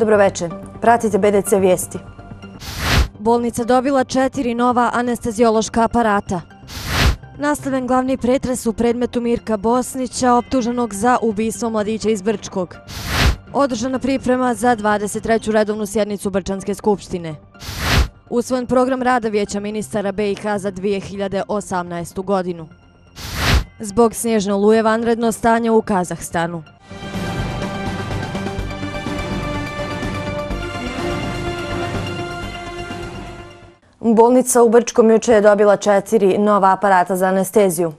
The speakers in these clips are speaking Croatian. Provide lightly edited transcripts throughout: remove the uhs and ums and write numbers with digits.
Dobroveče, pratite BDC vijesti. Bolnica dobila 4 nova anesteziološka aparata. Nastavljen glavni pretres u predmetu Mirka Bosnića, optuženog za ubistvo mladića iz Brčkog. Održana priprema za 23. redovnu sjednicu Brčanske skupštine. Usvojen program rada Vijeća ministara BiH za 2018. godinu. Zbog snježne oluje vanredno stanje u Kazahstanu. Bolnica u Brčkom juče je dobila 4 nova aparata za anesteziju.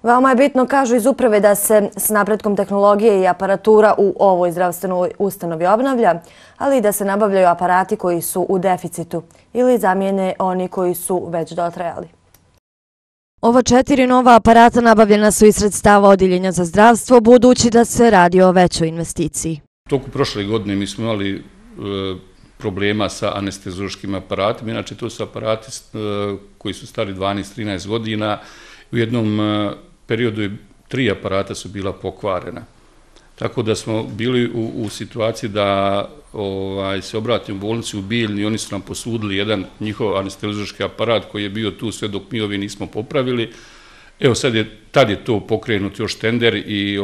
Veoma je bitno, kažu iz uprave, da se s napretkom tehnologije i aparatura u ovoj zdravstvenoj ustanovi obnavlja, ali i da se nabavljaju aparati koji su u deficitu ili zamijene oni koji su već dotrajali. Ova 4 nova aparata nabavljena su iz sredstava Odjeljenja za zdravstvo, budući da se radi o većoj investiciji. U toku prošle godine mi smo imali problema sa anesteziološkim aparatima. Inače, to su aparati koji su stari 12-13 godina. U jednom periodu 3 aparata su bila pokvarena. Tako da smo bili u situaciji da se obratimo u bolnici u Bijeljni i oni su nam posudili jedan njihov anesteziološki aparat koji je bio tu sve dok mi ovi nismo popravili. Evo, tad je to pokrenut još tender i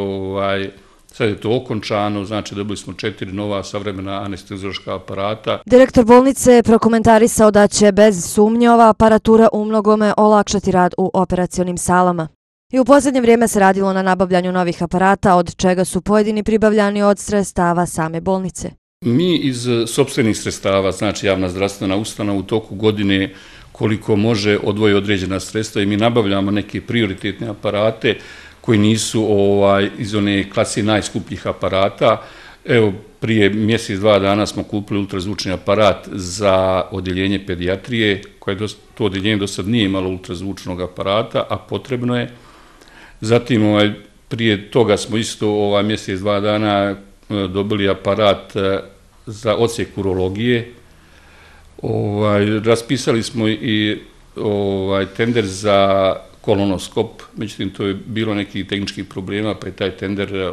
sad je to okončano, znači dobili smo 4 nova savremena anesteziološka aparata. Direktor bolnice je prokomentarisao da će bez sumnje ova aparatura umnogome olakšati rad u operacionim salama. I u posljednje vrijeme se radilo na nabavljanju novih aparata, od čega su pojedini pribavljani od sredstava same bolnice. Mi iz sopstvenih sredstava, znači javna zdravstvena ustanova, u toku godine koliko može odvoji određena sredstva i mi nabavljamo neke prioritetne aparate koji nisu iz one klase najskupljih aparata. Evo, prije mjesec, 2 dana smo kupili ultrazvučni aparat za odjeljenje pedijatrije, koje to odjeljenje do sad nije imalo ultrazvučnog aparata, a potrebno je. Zatim, prije toga smo isto mjesec, 2 dana dobili aparat za odsjek urologije. Raspisali smo i tender za kolonoskop, međutim to je bilo nekih tehničkih problema, pa je taj tender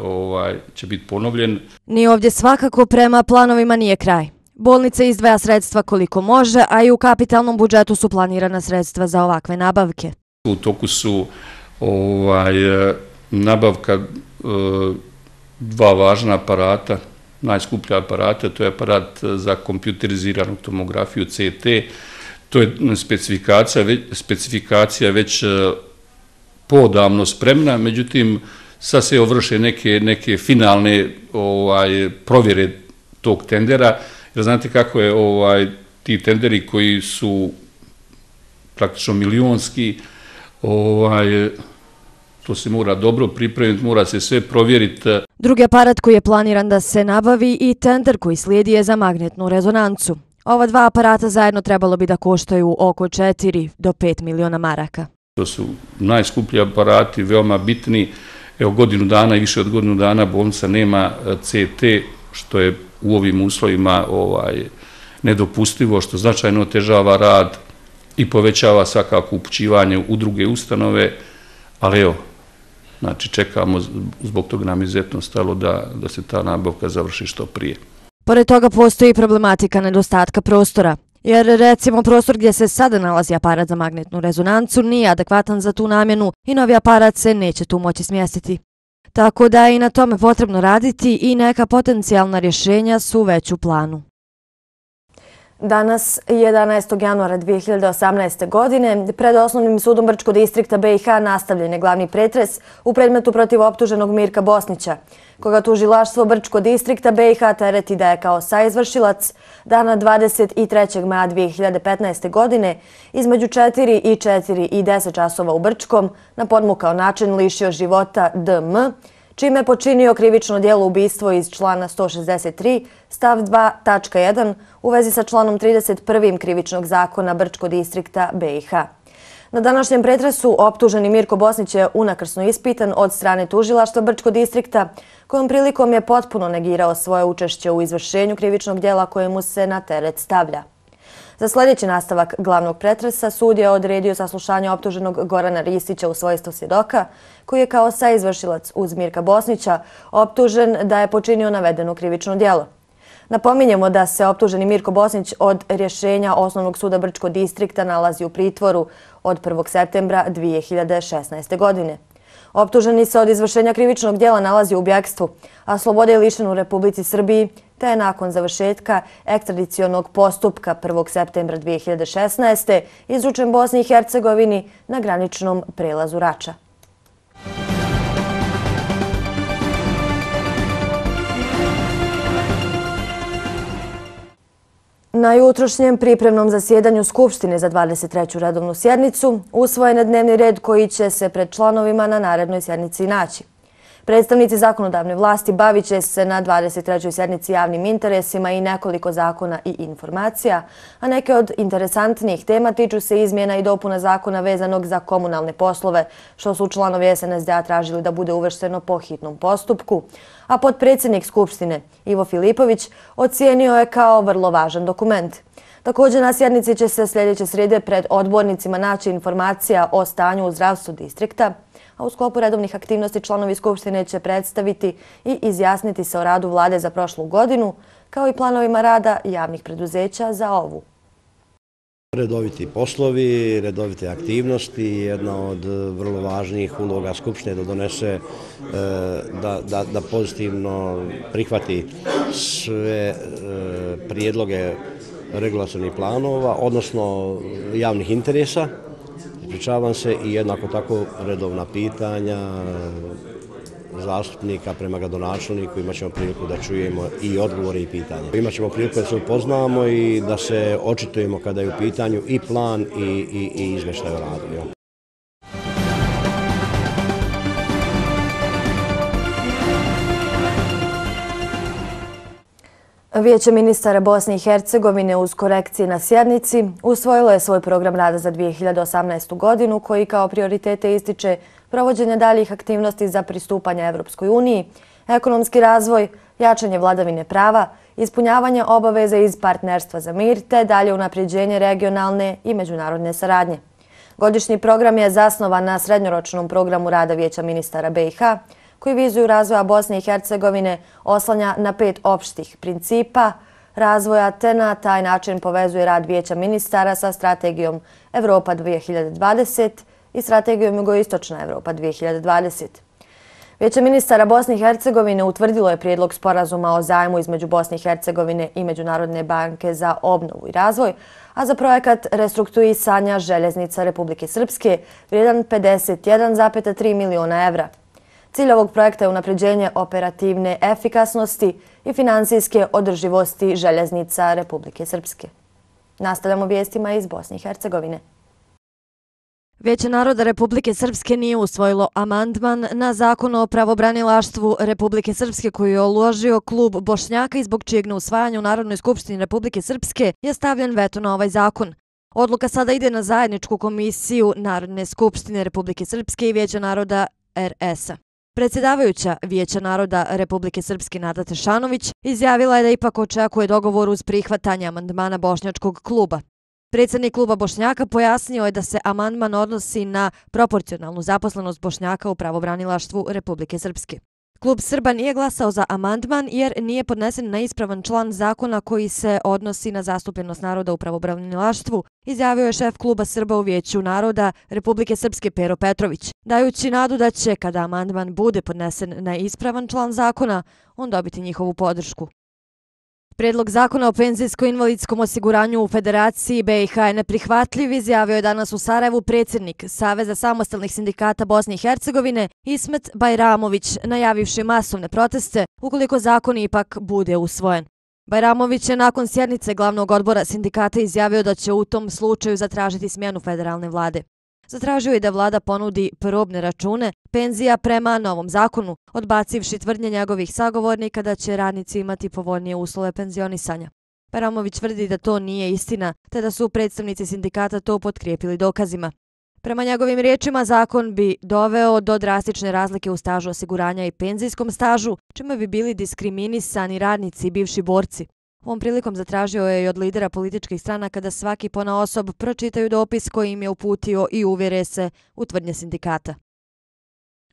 će biti ponovljen. Ni ovdje svakako prema planovima nije kraj. Bolnica izdvaja sredstva koliko može, a i u kapitalnom budžetu su planirana sredstva za ovakve nabavke. U toku su nabavka 2 važna aparata, najskuplja aparata, to je aparat za kompjuteriziranu tomografiju CT. To je specifikacija već podavno spremna, međutim sad se vrše neke finalne provjere tog tendera, jer znate kako je ti tenderi koji su praktično milionski, to se mora dobro pripremiti, mora se sve provjeriti. Drugi aparat koji je planiran da se nabavi i tender koji slijedi je za magnetnu rezonancu. Ova 2 aparata zajedno trebalo bi da koštaju oko 4 do 5 miliona maraka. To su najskuplji aparati, veoma bitni. Evo, godinu dana i više od godinu dana bolnica nema CT, što je u ovim uslovima nedopustivo, što značajno otežava rad i povećava svakako upućivanje u druge ustanove, ali evo, znači čekamo, zbog toga nam izuzetno stalo da se ta nabavka završi što prije. Pored toga postoji problematika nedostatka prostora, jer recimo prostor gdje se sada nalazi aparat za magnetnu rezonancu nije adekvatan za tu namjenu i novi aparat se neće tu moći smjestiti. Tako da je i na tome potrebno raditi i neka potencijalna rješenja su već u planu. Danas, 11. januara 2018. godine, pred Osnovnim sudom Brčkog distrikta BiH nastavljen je glavni pretres u predmetu protiv optuženog Mirka Bosnića, koga tužilaštvo Brčkog distrikta BiH tereti da je kao saizvršilac dana 23. maja 2015. godine između 4 i 4 i 10 časova u Brčkom na podmukao način lišio života DM, čime je počinio krivično djelo ubistvo iz člana 163 stav 2 tačka 1 u vezi sa članom 31. krivičnog zakona Brčkog distrikta BiH. Na današnjem pretresu optuženi Mirko Bosnić je unakrsno ispitan od strane tužilaštva Brčkog distrikta, kojom prilikom je potpuno negirao svoje učešće u izvršenju krivičnog djela koje mu se na teret stavlja. Za sljedeći nastavak glavnog pretresa sud je odredio saslušanje optuženog Gorana Ristića u svojstvu svjedoka, koji je kao saizvršilac uz Mirka Bosnića optužen da je počinio navedeno krivično djelo. Napominjemo da se optuženi Mirko Bosnić od rješenja Osnovnog suda Brčkog distrikta nalazi u pritvoru od 1. septembra 2016. godine. Optuženi se od izvršenja krivičnog djela nalazi u bjegstvu, a slobode je lišen u Republici Srbiji, te je nakon završetka ekstradicionog postupka 1. septembra 2016. izručen Bosni i Hercegovini na graničnom prelazu Rača. Na jutrošnjem pripremnom zasjedanju Skupštine za 23. redovnu sjednicu usvojen je dnevni red koji će se pred članovima na narednoj sjednici naći. Predstavnici zakonodavne vlasti bavit će se na 23. sjednici javnim interesima i nekoliko zakona i informacija, a neke od interesantnijih tema tiču se izmjena i dopuna zakona vezanog za komunalne poslove, što su članovi SNSD-a tražili da bude uvršteno po hitnom postupku, a potpredsjednik Skupštine Ivo Filipović ocijenio je kao vrlo važan dokument. Također na sjednici će se sljedeće srijede pred odbornicima naći informacija o stanju u zdravstvu distrikta, a u sklopu redovnih aktivnosti članovi Skupštine će predstaviti i izjasniti se o radu vlade za prošlu godinu, kao i planovima rada javnih preduzeća za ovu. Redoviti poslovi, redovite aktivnosti, jedna od vrlo važnijih uloga Skupštine da donese, da pozitivno prihvati sve prijedloge regulatornih planova, odnosno javnih interesa, ispričavam se, i jednako tako redovna pitanja zastupnika prema gradonačelniku. Imat ćemo priliku da čujemo i odgovore i pitanja. Imat ćemo priliku da se upoznamo i da se očitujemo kada je u pitanju i plan i izvještaj o radu. Vijeće ministara Bosne i Hercegovine uz korekcije na sjednici usvojilo je svoj program rada za 2018. godinu koji kao prioritete ističe provođenje daljih aktivnosti za pristupanje Evropskoj uniji, ekonomski razvoj, jačanje vladavine prava, ispunjavanje obaveza iz partnerstva za mir te dalje unapređenje regionalne i međunarodne saradnje. Godišnji program je zasnovan na srednjoročnom programu rada Vijeća ministara BiH, koji viziju razvoja Bosne i Hercegovine oslanja na 5 opštih principa razvoja te na taj način povezuje rad Vijeća ministara sa strategijom Evropa 2020 i strategijom Jugoistočna Evropa 2020. Vijeće ministara Bosne i Hercegovine utvrdilo je prijedlog sporazuma o zajmu između Bosne i Hercegovine i Međunarodne banke za obnovu i razvoj, a za projekat restrukturisanja željeznica Republike Srpske vrijedan 51,3 miliona evra. Cilj ovog projekta je unapređenje operativne efikasnosti i finansijske održivosti željeznica Republike Srpske. Nastavljamo vijestima iz Bosne i Hercegovine. Vijeće naroda Republike Srpske nije usvojilo amandman na zakon o pravobranilaštvu Republike Srpske koji je uložio klub Bošnjaka i zbog čijeg neusvajanja u Narodnoj skupštini Republike Srpske je stavljen veto na ovaj zakon. Odluka sada ide na zajedničku komisiju Narodne skupštine Republike Srpske i Vijeća naroda RS-a. Predsjedavajuća Vijeća naroda Republike Srpske Nada Tešanović izjavila je da ipak očekuje dogovor uz prihvatanje amandmana Bošnjačkog kluba. Predsjednik kluba Bošnjaka pojasnio je da se amandman odnosi na proporcionalnu zaposlenost Bošnjaka u pravobranilaštvu Republike Srpske. Klub Srba nije glasao za amandman jer nije podnesen na ispravan član zakona koji se odnosi na zastupljenost naroda u pravobranilaštvu, izjavio je šef kluba Srba u Vijeću naroda Republike Srpske Pero Petrović, dajući nadu da će, kada amandman bude podnesen na ispravan član zakona, on dobiti njihovu podršku. Prijedlog zakona o penzijsko-invalidskom osiguranju u Federaciji BiH je neprihvatljiv, izjavio je danas u Sarajevu predsjednik Saveza samostalnih sindikata Bosne i Hercegovine Ismet Bajramović, najavivši masovne proteste ukoliko zakon ipak bude usvojen. Bajramović je nakon sjednice glavnog odbora sindikata izjavio da će u tom slučaju zatražiti smjenu federalne vlade. Zatražio je da vlada ponudi probne račune penzija prema novom zakonu, odbacivši tvrdnje njegovih sagovornika da će radnici imati povoljnije uslove penzionisanja. Bajramović tvrdi da to nije istina, te da su predstavnici sindikata to potkrijepili dokazima. Prema njegovim riječima, zakon bi doveo do drastične razlike u stažu osiguranja i penzijskom stažu, čime bi bili diskriminisani radnici i bivši borci. Ovom prilikom zatražio je i od lidera političkih stranaka da svaki ponaosob pročitaju dopis koji im je uputio i uvjere se u tvrdnje sindikata.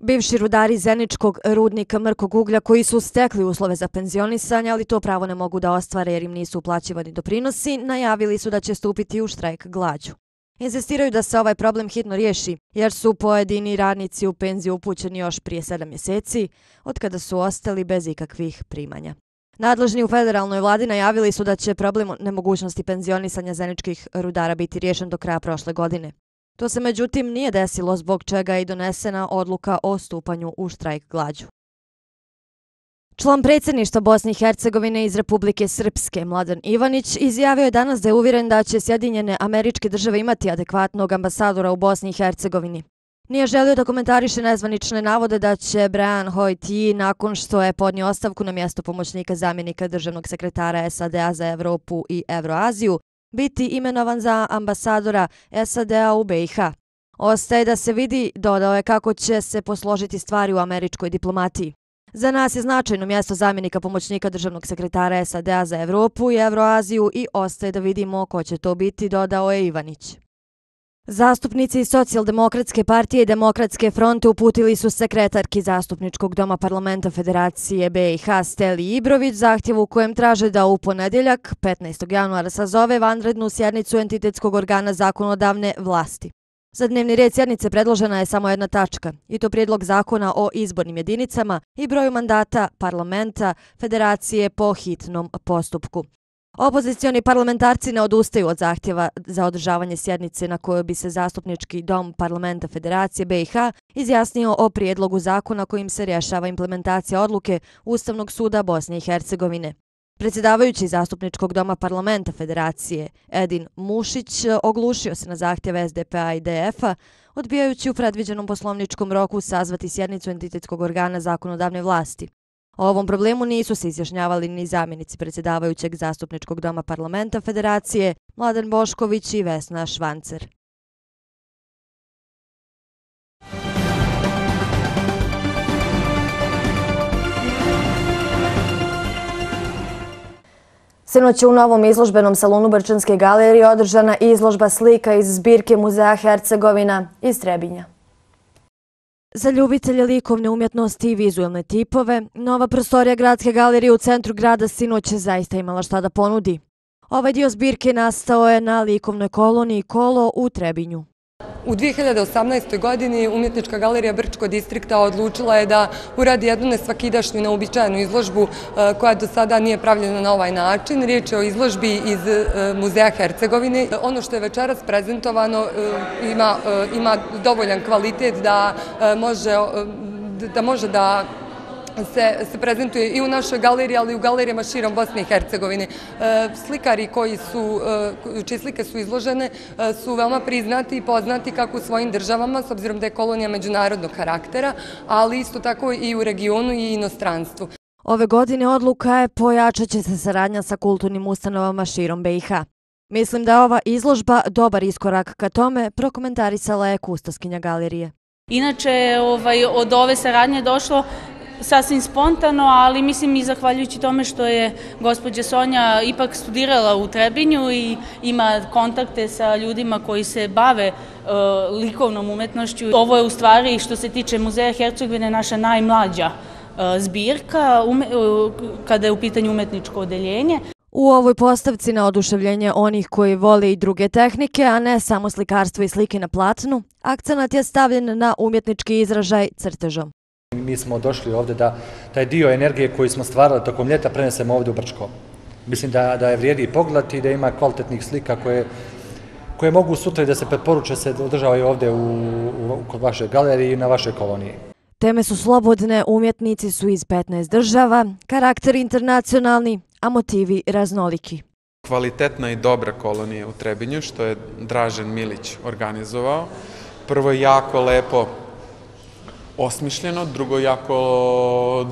Bivši rudari Zeničkog rudnika mrkog uglja koji su stekli uslove za penzionisanje, ali to pravo ne mogu da ostvare jer im nisu uplaćivani doprinosi, najavili su da će stupiti u štrajk glađu. Insistiraju da se ovaj problem hitno riješi, jer su pojedini radnici u penziju upućeni još prije 7 mjeseci, od kada su ostali bez ikakvih primanja. Nadležni u federalnoj vladi najavili su da će problem nemogućnosti penzionisanja zeničkih rudara biti riješen do kraja prošle godine. To se međutim nije desilo, zbog čega je i donesena odluka o stupanju u štrajk glađu. Član predsjedništva Bosne i Hercegovine iz Republike Srpske, Mladen Ivanić, izjavio je danas da je uvjeren da će Sjedinjene Američke Države imati adekvatnog ambasadora u Bosni i Hercegovini. Nije želio da komentariše nezvanične navode da će Brian Hoyt nakon što je podnio ostavku na mjesto pomoćnika zamjenika državnog sekretara SAD-a za Evropu i Evroaziju, biti imenovan za ambasadora SAD-a u BiH. Ostaje da se vidi, dodao je, kako će se posložiti stvari u američkoj diplomatiji. Za nas je značajno mjesto zamjenika pomoćnika državnog sekretara SAD-a za Evropu i Evroaziju i ostaje da vidimo ko će to biti, dodao je Ivanić. Zastupnici Socijaldemokratske partije i Demokratske fronte uputili su sekretarki Zastupničkog doma parlamenta Federacije BiH Steli Ibrović zahtjev u kojem traže da u ponedjeljak, 15. januara, sazove vanrednu sjednicu entitetskog organa zakonodavne vlasti. Za dnevni red sjednice predložena je samo jedna tačka, i to prijedlog zakona o izbornim jedinicama i broju mandata parlamenta Federacije po hitnom postupku. Opozicioni parlamentarci ne odustaju od zahtjeva za održavanje sjednice na kojoj bi se Zastupnički dom parlamenta Federacije BiH izjasnio o prijedlogu zakona kojim se rješava implementacija odluke Ustavnog suda Bosne i Hercegovine. Predsjedavajući Zastupničkog doma parlamenta Federacije Edin Mušić oglušio se na zahtjeve SDP-a i DF-a, odbijajući u predviđenom poslovničkom roku sazvati sjednicu entitetskog organa zakonodavne vlasti. O ovom problemu nisu se izjašnjavali ni zamjenici predsjedavajućeg Zastupničkog doma parlamenta Federacije Mladen Bošković i Vesna Švancer. Sinoć je u novom izložbenom salonu Brčanske galerije održana izložba slika iz zbirke Muzeja Hercegovina iz Trebinja. Za ljubitelje likovne umjetnosti i vizualne tipove, nova prostorija Gradske galerije u centru grada sinoć je zaista imala šta da ponudi. Ovaj dio zbirke nastao je na likovnoj koloniji Kolo u Trebinju. U 2018. godini Umjetnička galerija Brčkog distrikta odlučila je da uradi jednu nesvakidašnju, neobičajenu izložbu koja do sada nije pravljena na ovaj način. Riječ je o izložbi iz Muzeja Hercegovine. Ono što je večeras prezentovano ima dovoljan kvalitet da može da se prezentuje i u našoj galeriji, ali i u galerijama širom Bosne i Hercegovine. Slikari čije slike su izložene su veoma priznati i poznati kako u svojim državama, s obzirom da je kolonija međunarodnog karaktera, ali isto tako i u regionu i inostranstvu. Ove godine odluka je pojačat će se saradnja sa kulturnim ustanovama širom BiH. Mislim da je ova izložba dobar iskorak ka tome, prokomentarisala je kustoskinja galerije. Inače, od ove saradnje došlo sasvim spontano, ali mislim i zahvaljujući tome što je gospođa Sonja ipak studirala u Trebinju i ima kontakte sa ljudima koji se bave likovnom umjetnošću. Ovo je u stvari, što se tiče Muzeja Hercegovine, naša najmlađa zbirka kada je u pitanju umjetničko odeljenje. U ovoj postavci na oduševljenje onih koji vole i druge tehnike, a ne samo slikarstvo i slike na platnu, akcenat je stavljen na umjetnički izražaj crtežom. Mi smo došli ovdje da taj dio energije koji smo stvarali tokom ljeta prenesemo ovdje u Brčko. Mislim da je vrijedi pogledati i da ima kvalitetnih slika koje mogu sutra da se preporuče se održavaju ovdje kod vaše galerije i na vašoj koloniji. Teme su slobodne, umjetnici su iz 15 država, karakter internacionalni, a motivi raznoliki. Kvalitetna i dobra kolonija u Trebinju, što je Dražen Milić organizovao. Prvo je jako lepo osmišljeno, drugo jako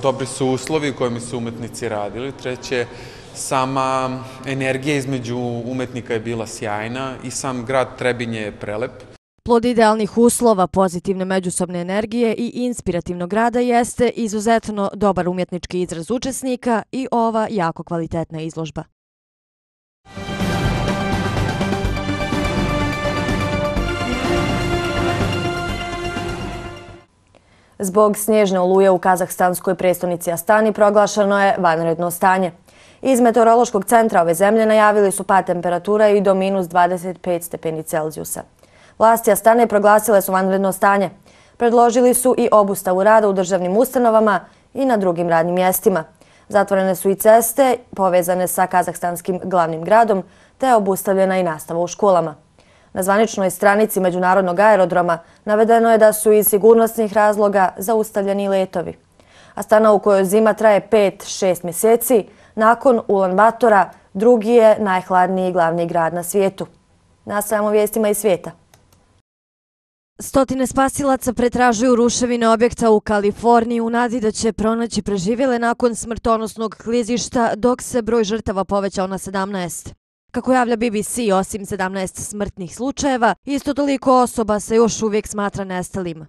dobri su uslovi u kojima su umetnici radili, treće sama energija između umetnika je bila sjajna i sam grad Trebinje je prelep. Plod idealnih uslova, pozitivne međusobne energije i inspirativnog rada jeste izuzetno dobar umjetnički izraz učesnika i ova jako kvalitetna izložba. Zbog snježne oluje u kazahstanskoj prestonici Astani proglašeno je vanredno stanje. Iz meteorološkog centra ove zemlje najavili su pad temperatura i do minus 25 stepeni Celzijusa. Vlasti Astane proglasile su vanredno stanje. Predložili su i obustavu rada u državnim ustanovama i na drugim radnim mjestima. Zatvorene su i ceste povezane sa kazahstanskim glavnim gradom, te obustavljena i nastava u školama. Na zvaničnoj stranici Međunarodnog aerodroma navedeno je da su iz sigurnosnih razloga zaustavljeni letovi. Astana, u kojoj zima traje 5-6 mjeseci, nakon Ulan Batora drugi je najhladniji glavni grad na svijetu. Nastavljamo vijestima iz svijeta. Stotine spasilaca pretražuju ruševine objekta u Kaliforniji u nadi da će pronaći preživjele nakon smrtonosnog klizišta, dok se broj žrtava povećao na 17. Kako javlja BBC, osim 17 smrtnih slučajeva, isto toliko osoba se još uvijek smatra nestalim.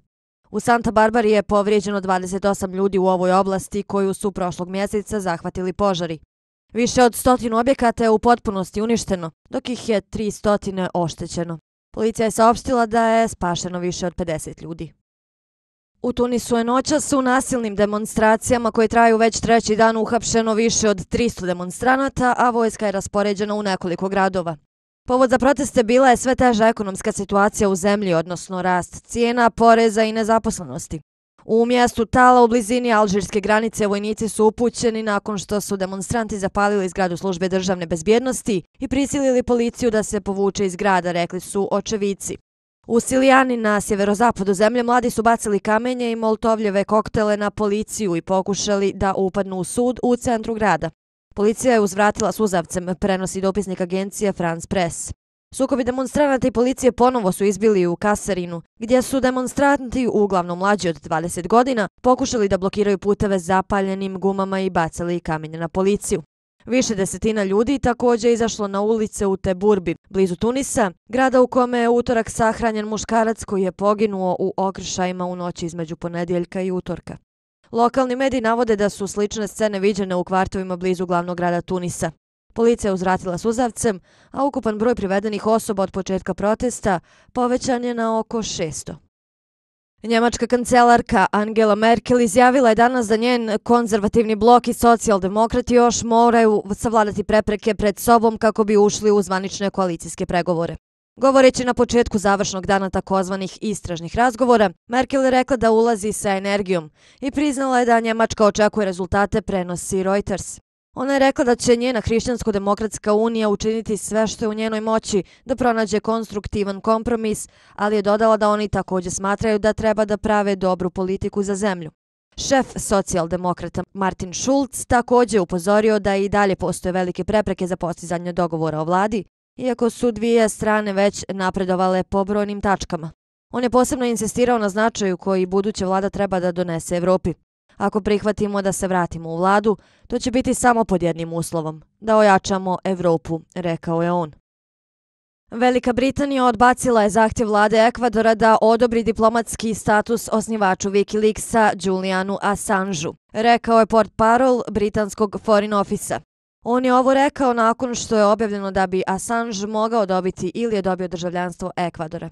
U Santa Barbari je povrijeđeno 28 ljudi u ovoj oblasti koju su prošlog mjeseca zahvatili požari. Više od 100 objekata je u potpunosti uništeno, dok ih je 300 oštećeno. Policija je saopštila da je spašeno više od 50 ljudi. U Tunisu je noćas u nasilnim demonstracijama koje traju već treći dan uhapšeno više od 300 demonstranata, a vojska je raspoređena u nekoliko gradova. Povod za proteste bila je sve teža ekonomska situacija u zemlji, odnosno rast cijena, poreza i nezaposlenosti. U mjestu Tala u blizini alžirske granice vojnici su upućeni nakon što su demonstranti zapalili zgradu službe državne bezbjednosti i prisilili policiju da se povuče iz grada, rekli su očevici. U Silijani na sjeverozapadu zemlje mladi su bacili kamenje i moltovljeve koktele na policiju i pokušali da upadnu u sud u centru grada. Policija je uzvratila suzavcem, prenosi dopisnik agencije France Press. Sukobi demonstranata i policije ponovo su izbili u Kasarinu, gdje su demonstranti, uglavnom mlađi od 20 godina, pokušali da blokiraju puteve zapaljenim gumama i bacali kamenje na policiju. Više desetina ljudi također izašlo na ulice u Teburbi, blizu Tunisa, grada u kome je utorak sahranjen muškarac koji je poginuo u okršajima u noći između ponedjeljka i utorka. Lokalni mediji navode da su slične scene viđene u kvartovima blizu glavnog grada Tunisa. Policija je uzvratila suzavcem, a ukupan broj privedenih osoba od početka protesta povećan je na oko 600. Njemačka kancelarka Angela Merkel izjavila je danas da njen konzervativni blok i socijaldemokrati još moraju savladati prepreke pred sobom kako bi ušli u zvanične koalicijske pregovore. Govoreći na početku završnog dana takozvanih istražnih razgovora, Merkel je rekla da ulazi sa energijom i priznala je da Njemačka očekuje rezultate, prenosi Reuters. Ona je rekla da će njena Hrišćansko-demokratska unija učiniti sve što je u njenoj moći da pronađe konstruktivan kompromis, ali je dodala da oni također smatraju da treba da prave dobru politiku za zemlju. Šef socijaldemokrata Martin Schulz također upozorio da i dalje postoje velike prepreke za postizanje dogovora o vladi, iako su dvije strane već napredovale po brojnim tačkama. On je posebno insistirao na značaju koji buduća vlada treba da donese Evropi. Ako prihvatimo da se vratimo u vladu, to će biti samo pod jednim uslovom, da ojačamo Evropu, rekao je on. Velika Britanija odbacila je zahtjev vlade Ekvadora da odobri diplomatski status osnivaču Wikileaksa Julianu Assangeu, rekao je portparol britanskog Foreign Office-a. On je ovo rekao nakon što je objavljeno da bi Assange mogao dobiti ili je dobio državljanstvo Ekvadora.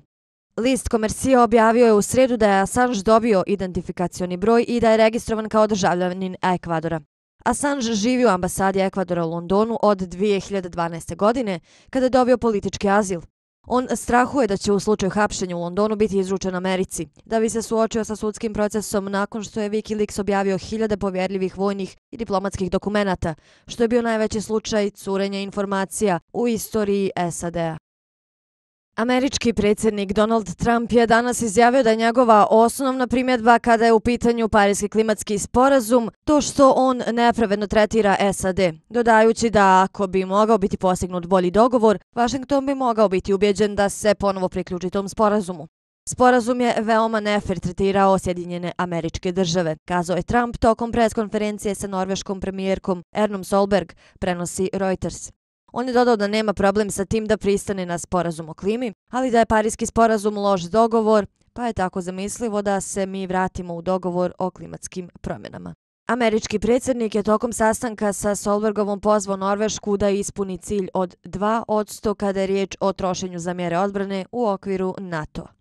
List Komercija objavio je u srijedu da je Assange dobio identifikacioni broj i da je registrovan kao državljanin Ekvadora. Assange živi u ambasadi Ekvadora u Londonu od 2012. godine, kada je dobio politički azil. On strahuje da će u slučaju hapšenja u Londonu biti izručen Americi, da bi se suočio sa sudskim procesom nakon što je Wikileaks objavio 1000 povjerljivih vojnih i diplomatskih dokumenata, što je bio najveći slučaj curenja informacija u istoriji SAD-a. Američki predsjednik Donald Trump je danas izjavio da je njegova osnovna primjedba kada je u pitanju Pariski klimatski sporazum to što on nepravedno tretira SAD, dodajući da ako bi mogao biti postignut bolji dogovor, Washington bi mogao biti ubjeđen da se ponovo priključi tom sporazumu. Sporazum je veoma nefer tretirao Sjedinjene Američke Države, kazao je Trump tokom preskonferencije sa norveškom premijerkom Ernom Solberg, prenosi Reuters. On je dodao da nema problem sa tim da pristane na sporazum o klimi, ali da je Pariski sporazum loš dogovor, pa je tako zamislivo da se mi vratimo u dogovor o klimatskim promjenama. Američki predsjednik je tokom sastanka sa Solbergovom pozvao Norvešku da ispuni cilj od 2% kada je riječ o trošenju za mjere odbrane u okviru NATO-a.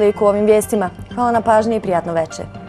Toliko u ovim vijestima. Hvala na pažnji i prijatno večer.